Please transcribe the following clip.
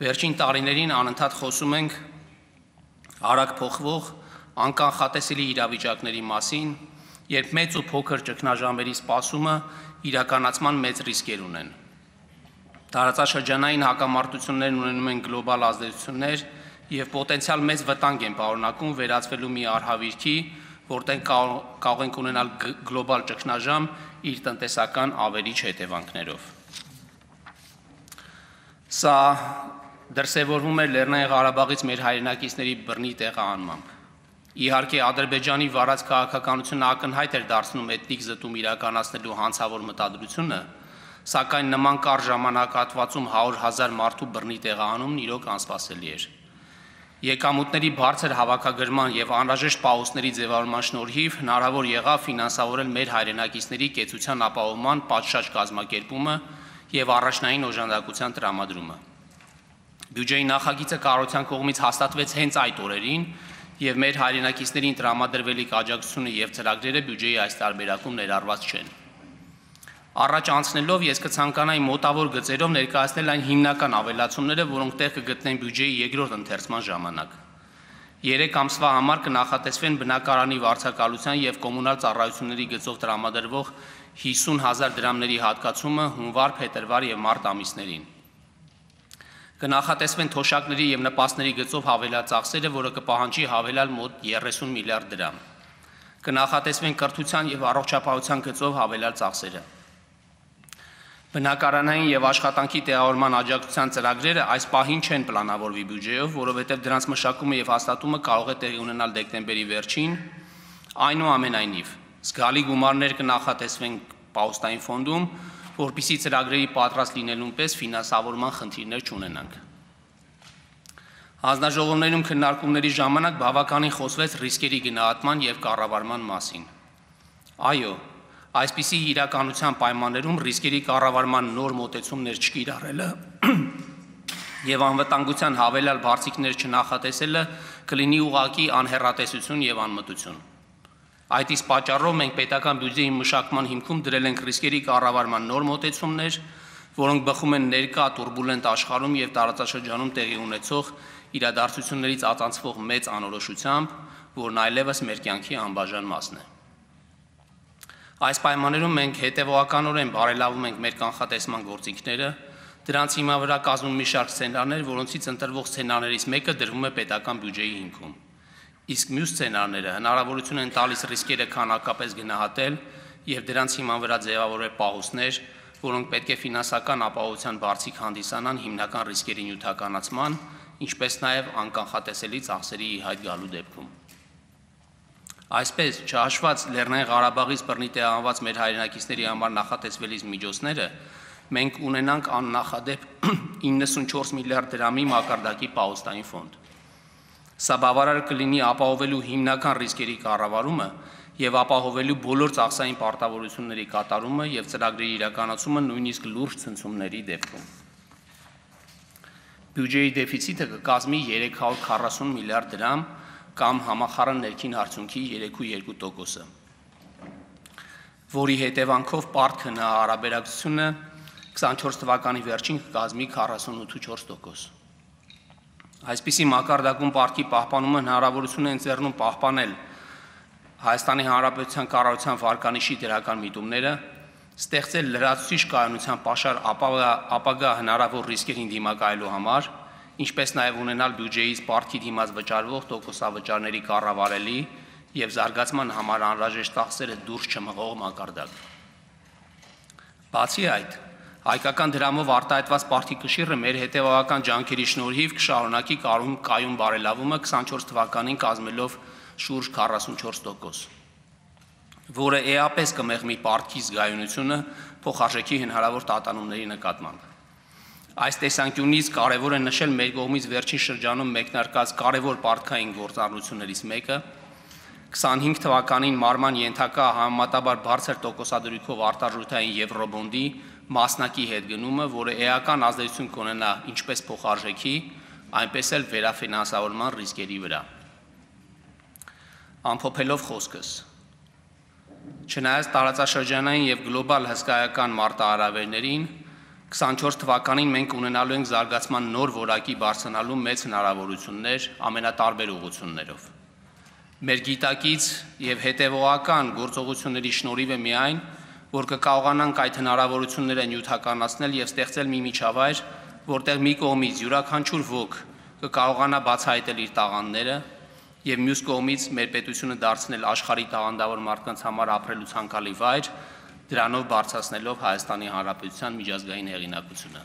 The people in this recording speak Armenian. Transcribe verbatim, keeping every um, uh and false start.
Վերջին տարիներին անընդհատ խոսում ենք արագ փոխվող, անկանխատեսելի իրավիճակների մասին, երբ մեծ ու փոքր ճգնաժամերի սպասումը իրականացման մեծ ռիսկեր ունեն։ Տարածաշրջանային հակամարտություններն ունենում են գլոբալ ազդեցություններ եւ պոտենցիալ մեծ վտանգ են պարունակում վերածվելու մի արհավիրքի, որտեղ կարող ենք ունենալ գլոբալ ճգնաժամ իր տնտեսական ավերիչ հետևանքներով։ Սա դրսևորվում է Լեռնային Ղարաբաղից մեր հայրենակիցների բռնի տեղահանմամբ։ Իհարկե, Ադրբեջանի վարած քաղաքականությունը ակնհայտ էր դարձնում էթնիկ զտում իրականացնելու հանցավոր մտադրությունը, սակայն նման կարճ ժամանակահատվածում հարյուր հազար մարդու բռնի տեղահանումն իրոք անսպասելի էր։ Եկամուտների բարձր հավաքագրման եւ անհրաժեշտ պահուստների ձևավորման շնորհիվ հնարավոր եղավ ֆինանսավորել մեր հայրենակիցների կեցության ապահովման պատշաճ կազմակերպումը եւ առաջնային օժանդակության տրամադրումը։ Բյուջեի նախագիծը կառավարության կողմից հաստատվեց հենց այդ օրերին եւ մեր հայրենակիցներին տրամադրվելիք աջակցությունը եւ ծրագրերը բյուջեի այս տարբերակում ներառված չեն։ Առաջ անցնելով ես կցանկանայի մոտավոր գծերով ներկայացնել այն հիմնական ավելացումները, որոնք տեղ կգտնեն բյուջեի երկրորդ ընթերցման ժամանակ։ Երեք ամսվա համար կնախատեսվեն բնակարանի վարձակալության եւ կոմունալ ծառայությունների գծով տրամադրվող հիսուն հազար դրամների հատկացումը հունվար, փետրվար եւ մարտ ամիսներին։ Կնախատեսվեն թոշակների եւ նպաստների գծով հավելածախսերը, որը կպահանջի հավելալ մոտ երեսուն միլիարդ դրամ։ Կնախատեսվեն կրթության եւ առողջապահության գծով հավելյալ ծախսերը։ Բնակարանային եւ աշխատանքի տեղավորման աջակցության ծրագրերը այս պահին չեն պլանավորվի բյուջեով, որովհետեւ դրանց մշակումը եւ հաստատումը կարող է տեղի ունենալ դեկտեմբերի վերջին, այնուամենայնիվ զգալի գումարներ կնախատեսվեն պահուստային ֆոնդում, որպեսզի ծրագրերի պատրաստ լինելուն պես ֆինանսավորման խնդիրներ չունենանք։ Հանձնաժողովներում քննարկումների ժամանակ բավականին խոսվեց ռիսկերի գնահատման եւ կառավարման մասին։ Այո, այսպիսի իրականության պայմաններում ռիսկերի կառավարման նոր մոտեցումներ չկիրառելը եւ անվտանգության հավելյալ բարձիկներ չնախատեսելը կլինի ուղղակի անհեռատեսություն եւ անմտություն։ Այդ իսկ պատճառով մենք պետական բյուջեի մշակման հիմքում դրել ենք ռիսկերի կառավարման նոր մոտեցումներ, որոնք բխում են ներկա տուրբուլենտ աշխարհում եւ տարածաշրջանում տեղի ունեցող իրադարձություններից ածանցվող մեծ անորոշությամբ, որն այլևս մեր կյանքի անբաժան մասն է։ Այս պայմաններում մենք հետևողականորեն բարելավում ենք մեր կանխատեսման գործիքները, դրանց հիմա վրա կազմում մի շարք սցենարներ, որոնցից ընտրվող սցենարներից մեկը դրվում է պետական բյուջեի հիմքում։ Իսկ մյուս սցենարները հնարավորություն են տալիս ռիսկերը քանակապես գնահատել եւ դրանց հիման վրա ձևավորել պահուստներ, որոնք պետք է ֆինանսական ապահովության բարձիկ հանդիսանան հիմնական ռիսկերի նյութականացման, ինչպես նաեւ անկանխատեսելի ծախսերի ի հայտ գալու դեպքում։ Այսպես, չհաշված Լեռնային Ղարաբաղից բռնի տեղահանված մեր հայրենակիցների համար նախատեսվելիք միջոցները, մենք ունենանք աննախադեպ իննսունչորս միլիարդ դրամի մակարդակի պահուստային ֆոնդ։ Սա բավարար կլինի ապահովելու հիմնական ռիսկերի կառավարումը եւ ապահովելու բոլոր ծախսային պարտավորությունների կատարումը եւ ծրագրերի իրականացումը նույնիսկ լուրջ ցնցումների դեպքում։ Բյուջեի դեֆիցիտը կկազմի երեք հարյուր քառասուն միլիարդ դրամ կամ համախառն ներքին արդյունքի երեք կόμma երկու տոկոսը, որի հետևանքով պարտք հարաբերակցությունը քսանչորս թվականի վերջին կկազմի քառասունութ կόμma չորս տոկոս։ Այսպիսի մակարդակում պարտքի պահպանումը հնարավորություն է ընձեռնում պահպանել Հայաստանի Հանրապետության կառավարության վարկանիշի դրական միտումները, ստեղծել լրացուցիչ կայունության պաշար ապագա հնարավոր ռիսկերին դիմակայելու համար, ինչպես նաև ունենալ բյուջեից պարտքի դիմաց վճարվող տոկոսավճարների կառավարելի եւ զարգացման համար անհրաժեշտ ծախսերը դուրս չմղող մակարդակ։ Բացի այդ, հայկական դրամով արտահայտված պարտքի կշիռը մեր հետևողական ջանքերի շնորհիվ կշարունակի կայուն բարելավումը քսանչորս թվականին կազմելով շուրջ քառասունչորս տոկոս, որը էապես կմեղմի պարտքի զգայունությունը փոխարժեքի հնարավոր տատանումների նկատմամբ։ Այս տեսանկյունից կարևոր է նշել մեր կողմից վերջին շրջանում մեկնարկած կարևոր պարտքային գործառույթներից մեկը քսանհինգ թվականին մարման ենթակա համեմատաբար բարձր տոկոսադրույքով արտարժութային եվրոբոնդի մասնակի հետ գնումը, որը էական ազդեցություն կունենա ինչպես փոխարժեքի, այնպես էլ վերաֆինանսավորման ռիսկերի վրա։ Ամփոփելով խոսքս, չնայած տարածաշրջանային եւ գլոբալ հսկայական մարտահրավերներին, քսանչորս թվականին մենք ունենալու ենք զարգացման նոր որակի բարձրանալու մեծ հնարավորություններ ամենատարբեր ուղղություններով։ Մեր գիտակից եւ հետեւողական գործողությունների շնորհիվ է միայն, որ կկարողանանք այդ հնարավորությունները նյութականացնել եւ ստեղծել մի միջավայր, որտեղ մի կողմից յուրաքանչյուր ոք կկարողանա բացահայտել իր տաղանդները եւ մյուս կողմից մեր պետությունը դարձնել աշխարհի տաղանդավոր մարդկանց համար ապրելու ցանկալի վայր, դրանով բարձրացնելով Հայաստանի Հանրապետության միջազգային հեղինակությունը։